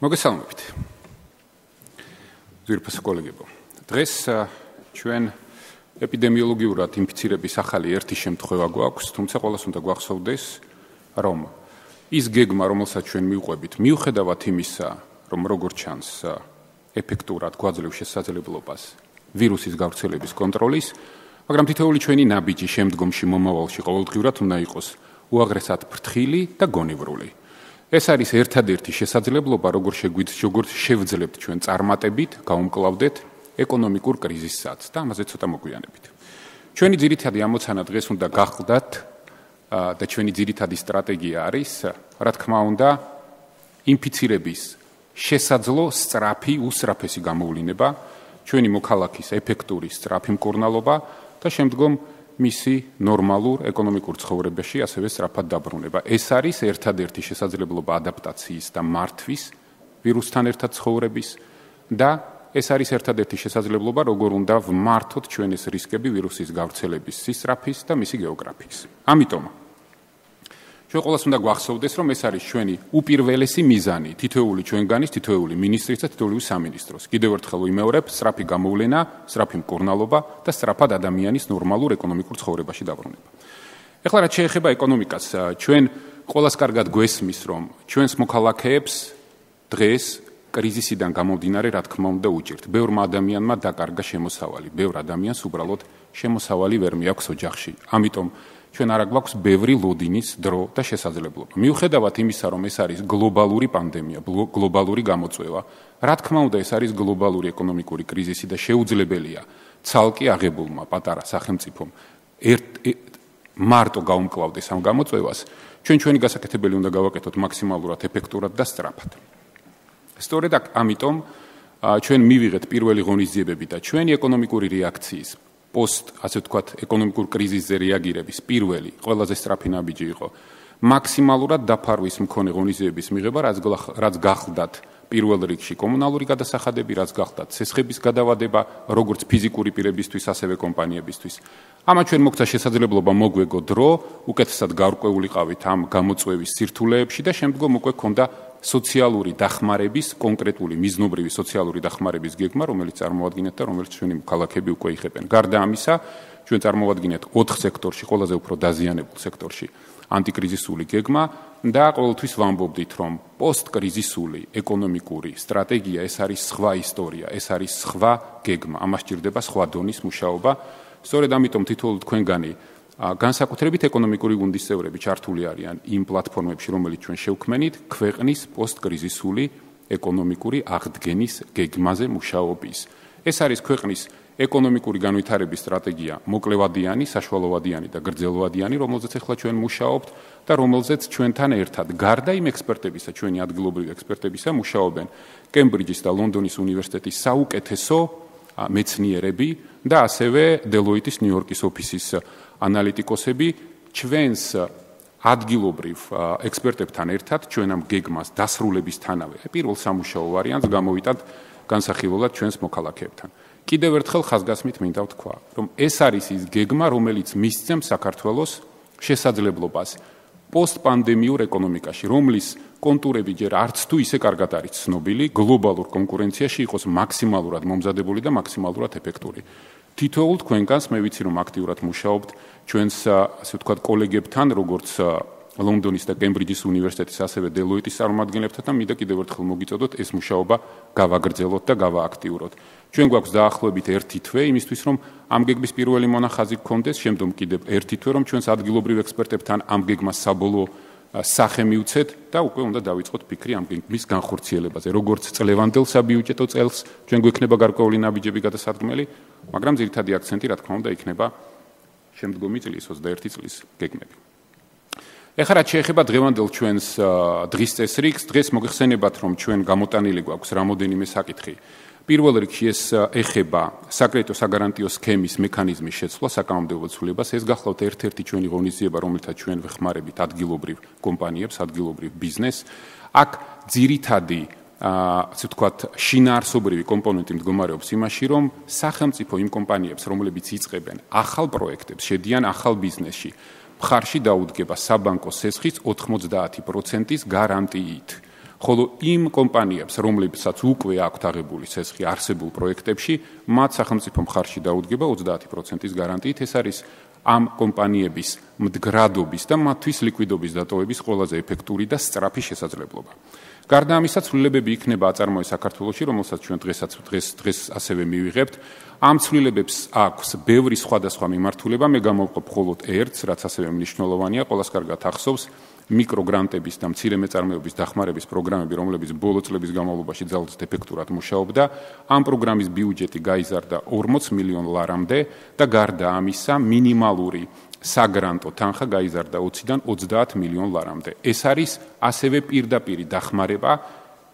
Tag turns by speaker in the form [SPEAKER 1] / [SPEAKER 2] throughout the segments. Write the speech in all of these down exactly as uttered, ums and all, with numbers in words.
[SPEAKER 1] მოგესალმებით. ძვირფასო კოლეგებო, დღეს ჩვენ ეპიდემიოლოგიურად ინფიცირების ახალი ერთი შემთხვევა გვაქვს, თუმცა ყველას უნდა გვახსოვდეს, რომ ის გეგმა, რომელსაც ჩვენ მივყვებით, მიუხედავად იმისა, რომ როგორც ჩანს, ეფექტურად გვაძლევს შესაძლებლობას ვირუსის გავრცელების კონტროლის, მაგრამ თითოეული ჩვენი ნაბიჯი შემდგომში მომავალში ყოველდღიურად უნდა იყოს უაღრესად ფრთხილი და გონივრული. ეს არის ერთადერთი შესაძლებლობა, როგორ შეგვიძლია, როგორ შევძლებთ ჩვენ წარმატებით, გავუმკლავდეთ ეკონომიკურ კრიზისსაც და ამაზე ცოტა მოგვიანებით. ჩვენი ძირითადი ამოცანა დღეს უნდა გახლდათ და ჩვენი ძირითადი სტრატეგია არის, რა თქმა უნდა, ინფიცირების შესაძლო სწრაფი, უსწრაფესი გამოვლინება, ჩვენი მოქალაქის ეფექტური სწრაფი მკურნალობა და შემდგომ მისი ნორმალურ ეკონომიკურ ცხოვრებაში ასევე სწრაფად დაბრუნება. ეს არის ერთადერთი შესაძლებლობა ადაპტაციის და მართვის ვირუსთან ერთად ცხოვრების და ეს არის ერთადერთი შესაძლებლობა, როგორ უნდა ვმართოთ ჩვენ ეს რისკები ვირუსის გავრცელების სისწრაფის და მისი გეოგრაფიის. ამიტომ ჩვენ ყველას უნდა გვახსოვდეს, რომ ეს არის ჩვენი უპირველესი მიზანი, თითოეული ჩვენგანის, თითოეული მინისტრის და თითოეული სამინისტროს. კიდევ ერთხელ ვიმეორებ, სწრაფი გამოვლენა, სწრაფი მკურნალობა და სწრაფად ადამიანის ნორმალურ ეკონომიკურ ცხოვრებაში დაბრუნება. ეხლა რაც შეეხება ეკონომიკას, ჩვენ ყველას კარგად გვესმის, რომ ჩვენს მოქალაქეებს დღეს კრიზისიდან გამომდინარე, რა თქმა უნდა, უჭირთ. ბევრმა ადამიანმა დაკარგა შემოსავალი, ბევრ ადამიანს უბრალოდ შემოსავალი ვერ მიაქვს ოჯახში. ამიტომ ჩვენ არა გვაქვს ბევრი ლოდინის დრო და შესაძლებლობა. მიუხედავად იმისა, რომ ეს არის გლობალური პანდემია, გლობალური გამოწვევა, რა თქმა უნდა, ეს არის გლობალური ეკონომიკური კრიზისი და შეუძლებელია ცალკე აღებულმა პატარა სახელმწიფომ მარტო გაუმკლავდეს ამ გამოწვევას, ჩვენ ჩვენი გასაკეთებელი უნდა გავაკეთოთ მაქსიმალურად ეფექტურად და სწრაფად. სწორედ ამიტომ ჩვენ მივიღეთ პირველი ღონისძიებები და ჩვენი ეკონომიკური რეაქციის პოსტ, ასე ვთქვათ, ეკონომიკურ კრიზისზე რეაგირების პირველი, ყველაზე სწრაფი ნაბიჯი იყო მაქსიმალურად დაფარვის მქონე ღონისძიების მიღება, რაც გახლდათ პირველ რიგში კომუნალური გადასახადები, რაც გახლდათ ცესხების გადავადება, როგორც ფიზიკური პირებისთვის, ასევე კომპანიებისთვის. ამან ჩვენ მოგცა შესაძლებლობა მოგვეგო დრო, უკეთესად გარკვეულიყავით ამ გამოწვევის სირთულეებში და შემდგომ უკვე ქონდა სოციალური დახმარების, კონკრეტული მიზნობრივი სოციალური დახმარების გეგმა, რომელიც წარმოადგენთ და რომელიც ჩვენი მოქალაქეები უკვე იღებენ. გარდა ამისა, ჩვენ წარმოადგენთ ოთხ სექტორში, ყველაზე უფრო დაზიანებულ სექტორში ანტიკრიზისული გეგმა და ყოველთვის ვამბობდით, რომ პოსტკრიზისული ეკონომიკური სტრატეგია ეს არის სხვა ისტორია, ეს არის სხვა გეგმა, ამას ჭირდება სხვა დონის მუშაობა. სწორედ ამიტომ თითოეულ თქვენგანი განსაკუთრებით ეკონომიკური გუნდის წევრები ჩართული არიან იმ პლატფორმებში, რომელიც ჩვენ შევქმნით, ქვეყნის პოსტკრიზისული ეკონომიკური აღდგენის გეგმაზე მუშაობის. ეს არის ქვეყნის ეკონომიკური განვითარების სტრატეგია, მოკლევადიანი, საშუალოვადიანი და გრძელვადიანი, რომელზეც ახლა ჩვენ მუშაობთ და რომელზეც ჩვენთან ერთად, გარდა იმ ექსპერტებისა, ჩვენი ადგილობრივი ექსპერტებისა, მუშაობენ კემბრიჯის და ლონდონის უნივერსიტეტის საუკეთესო მეცნიერები და ასევე დელოიტის ნიუ-იორკის ოფისის ანალიტიკოსები, ჩვენს ადგილობრივ ექსპერტებთან ერთად ჩვენ ამ გეგმას დასრულებისთანავე პირველ სამუშაო ვარიანტს გამოვიტანთ განსახილველად ჩვენს მოქალაქეებთან. კიდევ ერთხელ ხაზგასმით მინდა ვთქვა, რომ ეს არის ის გეგმა, რომელიც მისცემს საქართველოს შესაძლებლობას პოსტპანდემიურ ეკონომიკაში, რომლის კონტურები ჯერ არც თუ ისე კარგად არის ცნობილი, გლობალურ კონკურენციაში იყოს მაქსიმალურად მომზადებული და მაქსიმალურად ეფექტური. თითოეულ თქვენგანს მე ვიცი, რომ აქტიურად მუშაობთ ჩვენს, ასე ვთქვათ, კოლეგებთან, როგორც ლონდონის და კემბრიჯის უნივერსიტეტის, ასევე დელოიტის წარმომადგენლებთან და მინდა კიდევ ერთხელ მოგიწოდოთ ეს მუშაობა გავაგრძელოთ და გავააქტიუროთ. ჩვენ გვაქვს დაახლოებით ერთი თვე იმისთვის, რომ ამ გეგმის პირველი მონახაზი გქონდეს, შემდგომ კიდევ ერთი თვე, რომ ჩვენს ადგილობრივ ექსპერტებთან ამ გეგმას საბოლოო სახე მივცეთ და უკვე უნდა დავიწყოთ ფიქრი ამ გეგმის განხორციელებაზე. როგორც წლევანდელ საბიუჯეტო წელს ჩვენ გვექნება გარკვეული ნაბიჯები გადასადგმელი, მაგრამ ძირითადი აქცენტი, რა თქმა უნდა, იქნება შემდგომი წლის ოცდაერთი წლის გეგმები. ეხლა რაც შეეხება დღევანდელ ჩვენს დღის წესრიგს, დღეს მოგეხსენებათ, რომ ჩვენ გამოტანილი გვაქვს რამოდენიმე საკითხი. პირველ რიგში ეს ეხება საკრედიტო საგარანტიო სქემის მექანიზმის შეცვლა საკანონმდებლო ცვლილებას. ეს გახლავთ ერთ-ერთი ჩვენი ღონისძიება, რომელთაც ჩვენ ვეხმარებით ადგილობრივ კომპანიებს, ადგილობრივ ბიზნესს. აქ ძირითადი, ასე ვთქვათ, შინაარსობრივი კომპონენტი მდგომარეობს იმაში, რომ სახელმწიფო იმ კომპანიებს, რომლებიც იწყებენ ახალ პროექტებს, შედიან ახალ ბიზნესში, მხარში დაუდგება საბანკო სესხის ოთხმოცდაათი პროცენტის გარანტიით. ხოლო იმ კომპანიებს, რომლებსაც უკვე აქვთ აღებული ცეცხლი არსებულ პროექტებში, მათ სახელმწიფო მხარში დაუდგება ოცდაათი პროცენტის გარანტიით. ეს არის ამ კომპანიების მდგრადობის და მათთვის ლიკვიდობის დატოვების ყველაზე ეფექტური და სწრაფი შესაძლებლობა. გარდა ამისა, ცვლილებები იქნება აწარმოეს საქართველოში, რომელსაც ჩვენ დღესაც დღეს დღეს ასევე მივიღებთ. ამ ცვლილებებს აქვს ბევრი სხვადასხვა მიმართულება, მე გამოვყოფ მხოლოდ ერთს, რაც ასევე მნიშვნელოვანია, ყველას კარგად ახსოვს მიკროგრანტების და მცირე მეწარმეობის დახმარების პროგრამები, რომლებიც ბოლო წლების განმავლობაში ძალზედ ეფექტურად მუშაობდა. ამ პროგრამის ბიუჯეტი გაიზარდა ორმოც მილიონ ლარამდე და გარდა ამისა, მინიმალური საგრანტო თანხა გაიზარდა ოციდან ოცდაათ მილიონ ლარამდე. ეს არის ასევე პირდაპირი დახმარება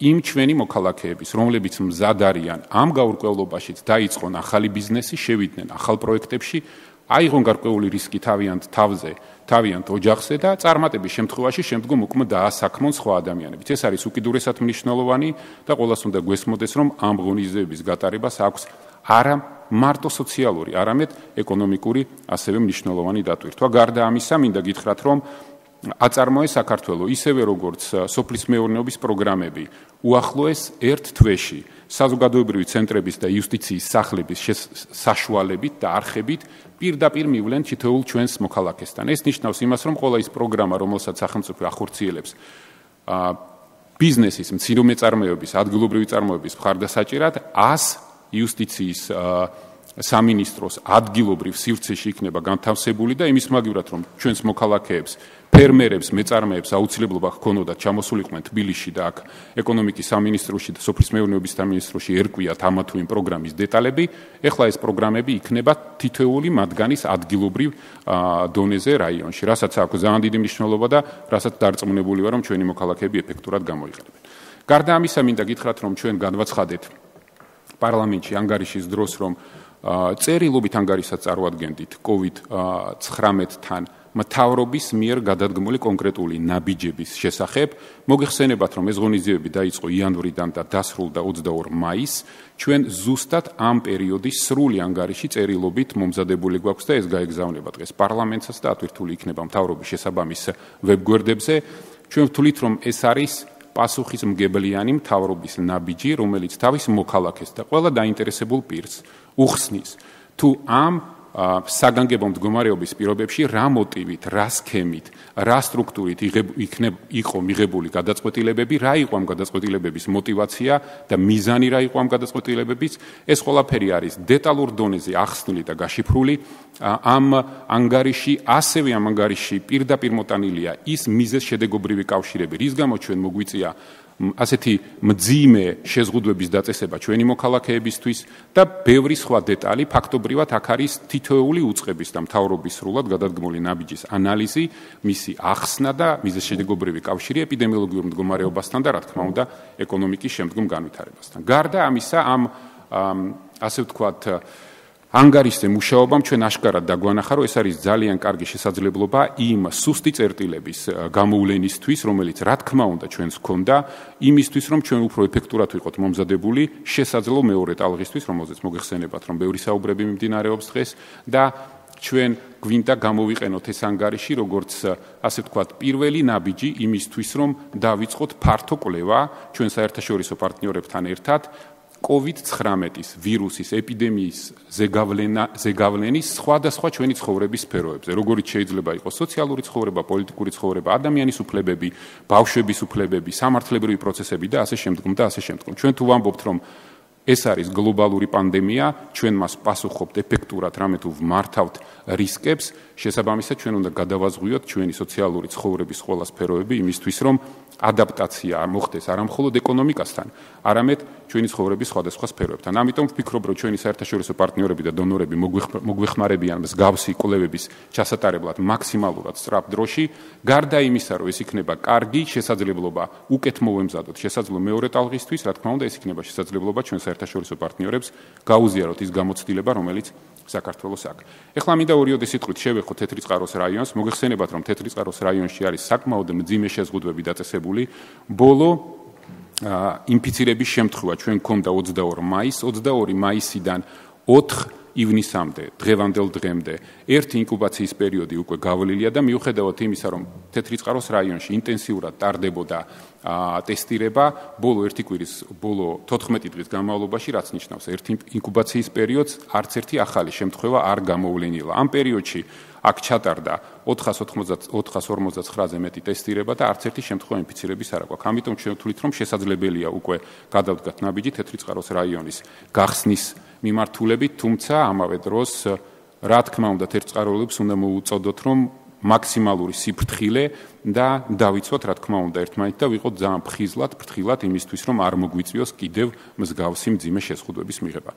[SPEAKER 1] იმ ჩვენი მოქალაქეების, რომლებიც მზად არიან ამ გაურკვევლობაშიც დაიწყონ ახალი ბიზნესი, შევიდნენ ახალ პროექტებში, აიღონ გარკვეული რისკი თავიანთ თავზე, თავიანთ ოჯახზე და წარმატების შემთხვევაში შემდგომ უკმ დაასაქმონ სხვა ადამიანებიც. ეს არის უკიდურესად მნიშვნელოვანი და ყველას უნდა გვესმოდეს, რომ ამ ღონისძიების გატარებას აქვს არა მარტო სოციალური, არამედ ეკონომიკური ასევე მნიშვნელოვანი დატვირთვა. გარდა ამისა, მინდა გითხრათ, რომ აწარმოეს საქართველოს ისევე როგორც სოფლის მეურნეობის პროგრამები უახლოეს ერთ თვეში საზოგადოებრივი ცენტრების და იუსტიციის სახლების საშუალებით და არხებით პირდაპირ მივლენ თითოეულ ჩვენს მოქალაქესთან. ეს ნიშნავს იმას, რომ ყველა ის პროგრამა, რომელსაც სახელმწიფო ახორციელებს ბიზნესის, მცირე მეწარმეობის, ადგილობრივი წარმოების მხარდასაჭერად, ას იუსტიციის სამინისტროს ადგილობრივ სივრცეში იქნება განთავსებული და იმის მაგივრად, რომ ჩვენს მოქალაქეებს, ფერმერებს, მეწარმეებს აუცილებლობა ჰქონოდათ ჩამოსულიყვნენ თბილისში და აქ ეკონომიკის სამინისტროში და სოფლის მეურნეობის სამინისტროში ერკვიათ ამა თუ იმ პროგრამის დეტალები, ეხლა ეს პროგრამები იქნება თითოეული მათგანის ადგილობრივ დონეზე რაიონში, რასაც აქვს ძალიან დიდი მნიშვნელობა და რასაც დარწმუნებული ვარ, რომ ჩვენი მოქალაქეები ეფექტურად გამოიყენებენ. გარდა ამისა, მინდა გითხრათ, რომ ჩვენ განვაცხადეთ პარლამენტში ანგარიშის დროს, რომ წერილობით ანგარიშსაც წარვადგენდით კოვიდ ცხრამეტთან მთავრობის მიერ გადადგმული კონკრეტული ნაბიჯების შესახებ. მოგეხსენებათ, რომ ეს ღონისძიებები დაიწყო იანვრიდან და დასრულდა ოცდაორ მაისს. ჩვენ ზუსტად ამ პერიოდის სრული ანგარიში წერილობით მომზადებული გვაქვს და ეს გაეგზავნება დღეს პარლამენტსაც და ატვირთული იქნება მთავრობის შესაბამის ვებგვერდებზე. ჩვენ ვთვლით, რომ ეს არის პასუხისმგებლიანი მთავრობის ნაბიჯი, რომელიც თავის მოქალაქეს და ყველა დაინტერესებულ პირს უხსნის, თუ ამ საგანგებო მდგომარეობის პირობებში რა მოტივით, რა სქემით, რა სტრუქტურით იყო მიღებული გადაწყვეტილებები, რა იყო ამ გადაწყვეტილებების мотиваცია და მიზანი რა იყო ამ გადაწყვეტილებების. ეს ყველაფერი არის დეტალურ დონეზე ახსნილი და გაშიფრული. ამ ანგარიში, ასევე ამ ანგარიში პირდაპირ მოტანილია ის მიზეზ-შედეგობრივი კავშირები, რის გამო ჩვენ მოგვიწია ასეთი მძიმე შეზღუდვების დაწესება ჩვენი მოქალაქეებისთვის და ბევრი სხვა დეტალი. ფაქტობრივად აქ არის თითოეული უწყების და მთავრობის სრულად გადადგმული ნაბიჯის ანალიზი, მისი ახსნა და მიზეზ-შედეგობრივი კავშირი ეპიდემიოლოგიურ მდგომარეობასთან და რა თქმა უნდა ეკონომიკის შემდგომ განვითარებასთან. გარდა ამისა, ამ ასე ვთქვათ ანგარიშზე მუშაობამ ჩვენ აშკარად დაგვანახა, რომ ეს არის ძალიან კარგი შესაძლებლობა იმ სუსტი წერტილების გამოვლენისთვის, რომელიც რა თქმა უნდა ჩვენს ჰქონდა, იმისთვის, რომ ჩვენ უფრო ეფექტურად ვიყოთ მომზადებული შესაძლო მეორე ტალღისთვის, რომელზეც მოგეხსენებათ, რომ ბევრი საუბრები მიმდინარეობს დღეს და ჩვენ გვინდა გამოვიყენოთ ეს ანგარიში, როგორც ასე ვთქვათ, პირველი ნაბიჯი იმისთვის, რომ დავიწყოთ ფართო კვლევა ჩვენ საერთაშორისო პარტნიორებთან ერთად კოვიდ ცხრამეტის ვირუსის ეპიდემიის ზეგავლენის სხვადასხვა ჩვენი ცხოვრების სფეროებზე, როგორიც შეიძლება იყოს სოციალური ცხოვრება, პოლიტიკური ცხოვრება, ადამიანის უფლებები, ბავშვების უფლებები, სამართლებრივი პროცესები და ასე შემდგომ და ასე შემდგომ. ჩვენ თუ ვამბობთ, რომ ეს არის გლობალური პანდემია, ჩვენ მას პასუხობთ ეფექტურად, რამე თუ ვმართავთ რისკებს, შესაბამისად ჩვენ უნდა გადავაზღვიოთ ჩვენი სოციალური ცხოვრების ყველა სფეროები იმისთვის, რომ ადაპტაცია მოხდეს არა მხოლოდ ეკონომიკასთან, არამედ ჩვენი ცხოვრების სხვადასხვა სფეროებთან. ამიტომ ვფიქრობ, რომ ჩვენი საერთაშორისო პარტნიორები და დონორები მოგვეხმარებიან მსგავსი კვლევების ჩასატარებლად მაქსიმალურად სწრაფ დროში. გარდა იმისა, რომ ეს იქნება კარგი შესაძლებლობა უკეთ მოვემზადოთ შესაძლო მეორე ტალღისთვის, რა თქმა უნდა, ეს იქნება შესაძლებლობა ჩვენ საერთაშორისო პარტნიორებს გაუზიაროთ ის გამოცდილება, რომელიც საქართველოს აქვს. ეხლა მინდა ორიოდე სიტყვით შევეხოთ თეთრიწყაროს რაიონს. მოგეხსენებათ, რომ თეთრიწყაროს რაიონში არის საკმაოდ მძიმე შეზღუდვები დაწესებული. ბოლო ინფიცირების შემთხვევა ჩვენ გვქონდა ოცდაორ მაისს, ოცდაორი მაისიდან ოთხ ივნისამდე, დღევანდელ დღემდე ერთი ინკუბაციის პერიოდი უკვე გავლილია და მიუხედავად იმისა, რომ თეთრიწყაროს რაიონში ინტენსიურად ტარდებოდა ტესტირება, ბოლო ერთი კვირის, ბოლო თოთხმეტი დღის განმავლობაში, რაც ნიშნავს ერთი ინკუბაციის პერიოდს, არც ერთი ახალი შემთხვევა არ გამოვლენილა. ამ პერიოდში აქ ჩატარდა ოთხას ორმოცდაცხრაზე მეტი ტესტირება და არც ერთი შემთხვევა ინფიცირების არ აქვს. ამიტომ ჩვენ ვთვლით, რომ შესაძლებელია უკვე გადავდგათ ნაბიჯი თეთრიწყაროს რაიონის გახსნის მიმართულებით, თუმცა ამავე დროს რა თქმა უნდა თეთრიწყაროელებს უნდა მოუწოდოთ, რომ მაქსიმალური სიფრთხილე და დავიცვათ რა თქმა უნდა ერთმანეთ და ვიყოთ ძალიან ფხიზლად, ფრთხილად იმისთვის, რომ არ მოგვიწვიოს კიდევ მსგავსი მძიმე შეზღუდვების მიღება.